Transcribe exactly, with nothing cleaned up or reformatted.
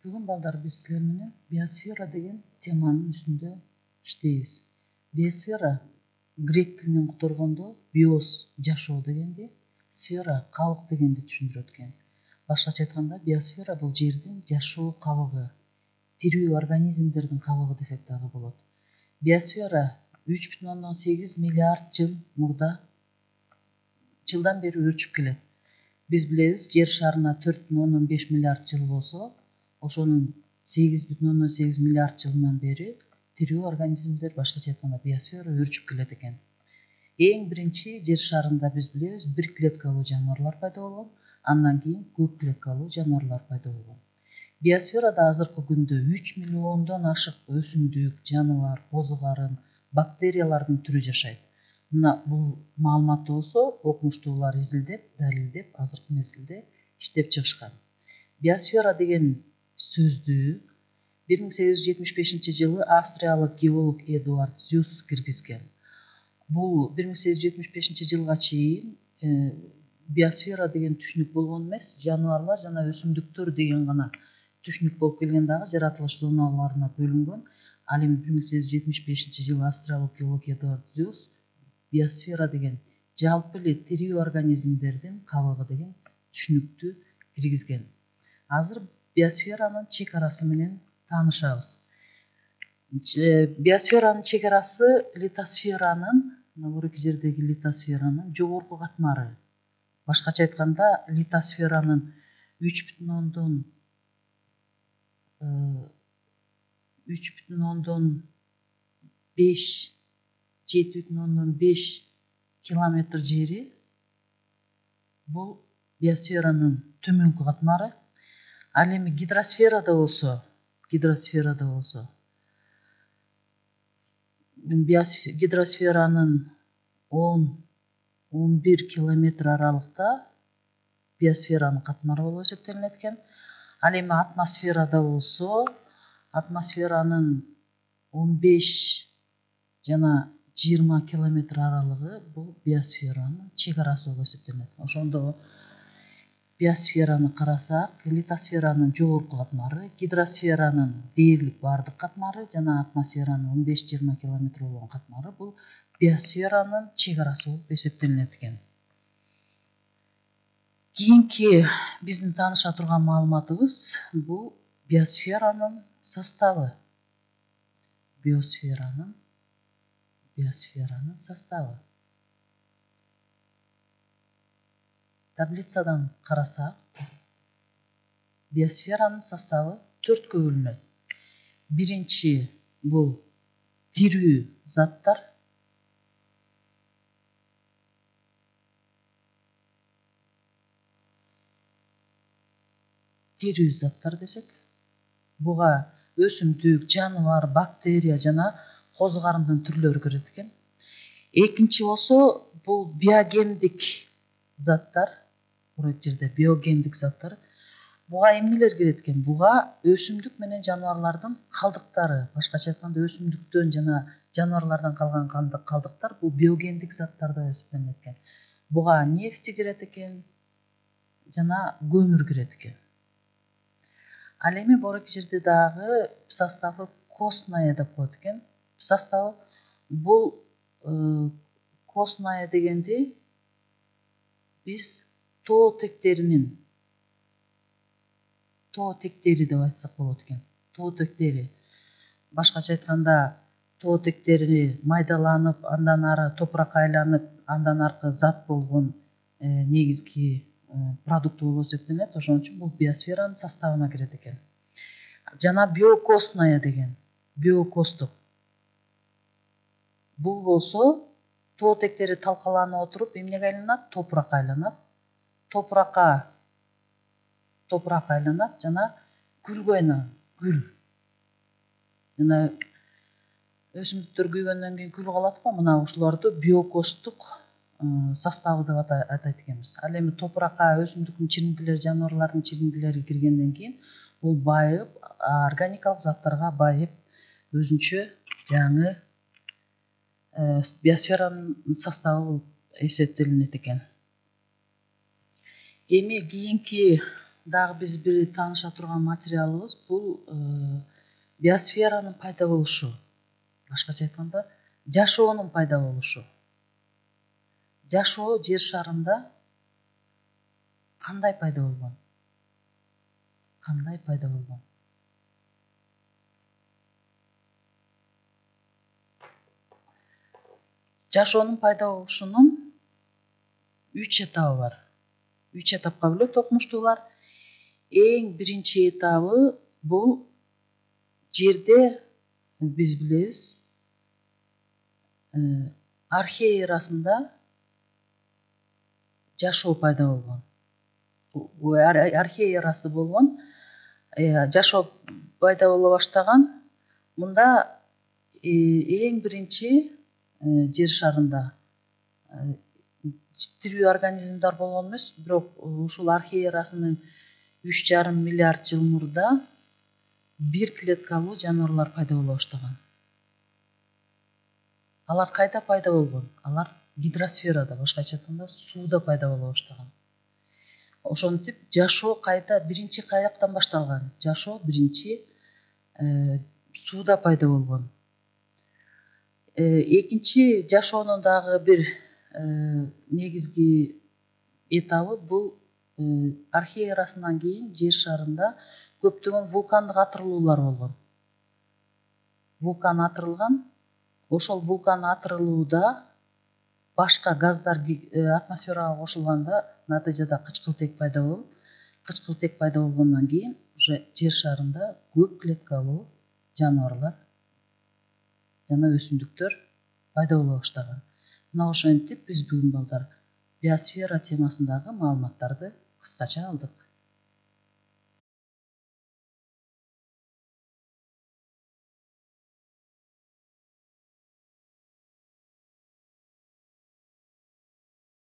Бүгүн балдар биз силер менен биосфера деген теманын үстүндө иштейбиз. Биосфера грек тилинен которгондо биос жашоо дегенди, сфера кабык дегенди түшүндүрөт экен. Башкача айтканда, биосфера бул жердин жашоо кабыгы, тирүү организмдердин кабыгы десек дагы болот. Биосфера үч бүтүн ондон сегиз миллиард жыл мурда жылдан бери өрчүп келет. Биз билебиз, жер шарына төрт бүтүн ондон беш миллиард жыл болсо, ошонун сегиз бүтүн ондон сегиз миллиард жылынан бери тирүү организмдер, башкача айтканда биосфера өрчүп келет экен. Эң биринчи жер шарында биз билебиз, бир клеткалуу жаныбарлар пайда болгон, андан кийин көп клеткалуу жаныбарлар пайда болгон. Биосферада азыркы күндө үч миллиондон ашык өсүмдүк, жаныбар, козу карын, бактериялардын түрү жашайт. Мына бул маалыматты болсо окумуштуулар изилдеп, далилдеп, азыркы мезгилде иштеп чыгышкан. Биосфера деген сөздү бир миң сегиз жүз жетимиш бешинчи жылы австриялык геолог Эдуард Зюс киргизген. Бул бир миң сегиз жүз жетимиш бешинчи жылга чейин биосфера деген түшүнүк болгон эмес, жаныбарлар жана өсүмдүктөр деген гана түшүнүк болуп келген, дагы жаратылыш зоналарына бөлүнгөн. Ал эми бир миң сегиз жүз жетимиш бешинчи жылы австриялык геолог Эдуард Зюс биосфера деген жалпы эле тирүү организмдердин кабыгы деген түшүнүктү киргизген. Азыр биосферанын чек арасы менен таанышабыз. Биосферанын чек арасы литосферанын, мына жердеги литосферанын жогорку катмары. Башкача айтканда, литосферанын үч бүтүн ондон үч бүтүн ондон беш жети бүтүн ондон беш километр жери бул биосферанын төмөнкү катмары. Ал эми гидросферада болсо, гидросферада болсо гидросферанын он он бир километр аралыкта биосферанын катмары болуп эсептелинет экен. Ал эми атмосферада болсо, атмосферанын он беш жана жыйырма километр аралыгы бул биосферанын чек арасы болуп эсептелинет. Ошондо биосфераны карасак, литосферанын жогорку катмары, гидросферанын дээрлик баардык катмары жана атмосферанын он беш жыйырма километр болгон катмары бул биосферанын чек арасы болуп эсептелинет экен. Кийинки биздин тааныша турган маалыматыбыз бул биосферанын составы. Биосферанын биосферанын составы. Таблицадан карасак, биосферанын составы төрткө бөлүнөт. Биринчи бул тирүү заттар. Тирүү заттар десек, буга өсүмдүк, жаныбар, бактерия жана козу карындын түрлөрү кирет экен. Экинчи болсо, бул биогендик заттар. Бурак жерде биогендик заттар. Буга эмнелер кирет экен? Буга өсүмдүк менен жаныбарлардын калдыктары, башкача айтканда өсүмдүктөн жана жаныбарлардан калган калдыктар бул биогендик заттарда эсептелинет экен. Буга нефти кирет экен жана көмүр кирет экен. Ал эми борок жерде дагы составы костная деп коет экен. Составы бул костная дегенди биз тоо тектеринин тоо тектери деп айтсак болот экен. Тоо тектери. Башкача айтканда, тоо тектери майдаланып, андан ары топуракка айланып, андан аркы зат болгон негизги продукты болуп эсептелинет. Ошон үчүн бул биосферанын составына кирет экен. Жана биокостная деген, биокостук. Бул болсо тоо тектери талкаланып отуруп эмнеге айланат? Топуракка айланат. Топуракка топуракка айланат жана гүлгө айланат. Гүл. Жана өсүмдүктөр күйгөндөн кийин күл калат го, мына ушуларды биокостук составы деп атайт экенбиз. Ал эми топуракка өсүмдүктүн чириндилери, жаныбарлардын чириндилери киргенден кийин бул байып, органикалык заттарга байып, өзүнчө жаңы биосферанын составы болуп эсептелинет экен. Эми кийинки дагы биз бир тааныша турган материалыбыз бул биосферанын пайда болушу, башкача айтканда жашоонун пайда болушу. Жашоо жер шарында кандай пайда болгон? Кандай пайда болгон? Жашоонун пайда болушунун үч этабы бар. Үч этапка бөлөт окумуштуулар. Эң биринчи этабы бул жерде биз билебиз архея эрасында жашоо пайда болгон. Архея эрасы болгон, жашоо пайда боло баштаган. Мында эң биринчи жер шарында тирүү организмдер болгон эмес, бирок ушул архея эрасынын үч жарым миллиард жыл мурда бир клеткалуу жаныбарлар пайда боло баштаган. Алар кайда пайда болгон? Алар гидросферада, башкача айтканда сууда пайда боло баштаган. Ошентип жашоо кайда, биринчи каяктан башталган? Жашоо биринчи сууда пайда болгон. Экинчи жашоонун дагы бир негизги этабы бул архея эрасынан кийин жер шарында көптөгөн вулкандык атырылуулар болгон. Вулкан атырылган. Ошол вулкан атырылууда башка газдар атмосферага кошулганда натыйжада кычкылтек пайда болуп, кычкылтек пайда болгондон кийин уже жер шарында көп клеткалуу жаныбарлар жана өсүмдүктөр пайда боло баштаган. Мына ошентип биз бүгүн балдар биосфера темасындагы маалыматтарды кыскача алдык.